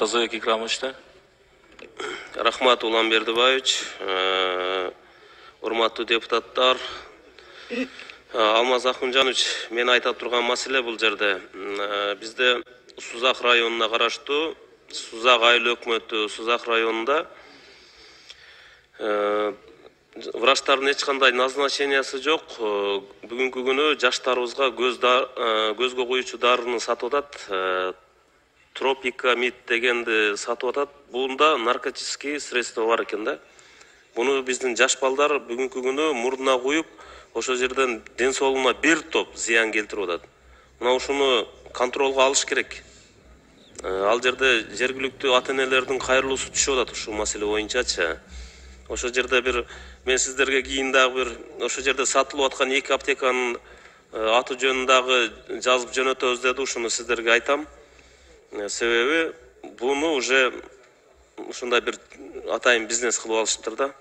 Муртаза Кикрамовичте. Рахмат, Улан Бердибаевич. Урматтуу депутаттар. Алмаз Ахунжанович, мен айтып турган маселе бул жерде. Бизде Сузак районуна караштуу Сузак айыл өкмөтү Сузак районунда врачтардын эч кандай назначениясы жок. Бүгүнкү күнү жаштарыбызга көзгө коюучу дарыны сатып атат. Тропикамид дегенди сатып атат. Бунда наркотический средства бар экен да. Буну биздин жаш балдар бүгүнкү күнү мурдуна куюп, ошол жерден ден соолугуна бир топ зыян келтирип атат. Мына ушуну контролго алыш керек. Ал жерде жергиликтүү ата-энелердин кайрылуусу түшүп атат ушул маселе боюнчачы. Ошол жерде мен сиздерге кийин дагы ошол жерде сатылып аткан 2 аптеканын аты жөнүн дагы жазып жөнөтөбүз деди, ушуну сиздерге айтам. Себеби буну уже ушундай бир атайын бизнес кылып алышыптыр да.